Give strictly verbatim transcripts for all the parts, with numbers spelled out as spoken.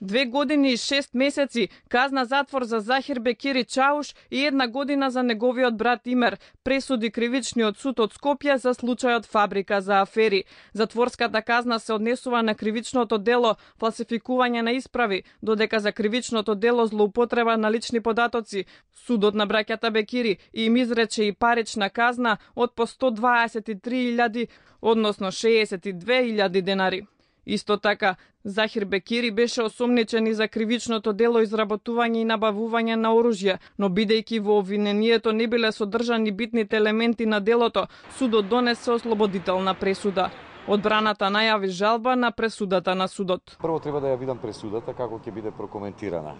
Две години и шест месеци казна затвор за Захир Бекири Чауш и една година за неговиот брат Имер, пресуди кривичниот суд од Скопје за случајот Фабрика за афери. Затворската казна се однесува на кривичното дело фалсификување на исправи, додека за кривичното дело злоупотреба на лични податоци судот на браќата Бекири им изрече и парична казна од по сто дваесет и три илјади, односно шеесет и две илјади денари. Исто така, Захир Бекири беше осомничен и за кривичното дело изработување и набавување на оружје, но бидејќи во обвинението не биле содржани битните елементи на делото, судот донесе ослободителна пресуда. Одбраната најави жалба на пресудата на судот. Прво треба да ја видам пресудата како ќе биде прокоментирана.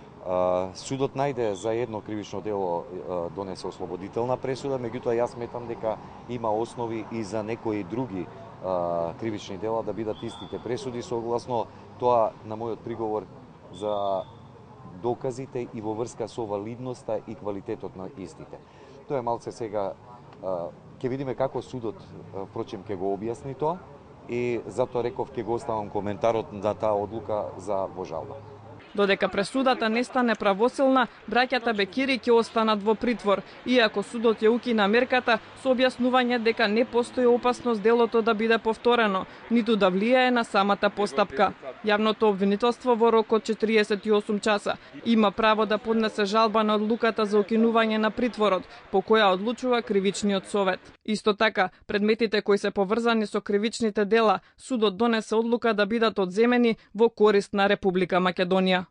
Судот најде за едно кривично дело донесе ослободителна пресуда, меѓутоа јас сметам дека има основи и за некои други кривични дела да бидат истите пресуди, согласно тоа на мојот приговор за доказите и во врска со валидноста и квалитетот на истите. Тоа е малце сега, ќе видиме како судот, впрочем, ќе го објасни тоа и затоа реков ќе го оставам коментарот на таа одлука за во жалба. Додека пресудата не стане правосилна, браќата Бекири ќе останат во притвор, иако судот ја укина мерката со објаснување дека не постои опасност делото да биде повторено, ниту да влијае на самата постапка. Јавното обвинителство во рок од четириесет и осум часа има право да поднесе жалба на одлуката за укинување на притворот, по која одлучува кривичниот совет. Исто така, предметите кои се поврзани со кривичните дела, судот донесе одлука да бидат одземени во корист на Република Македонија.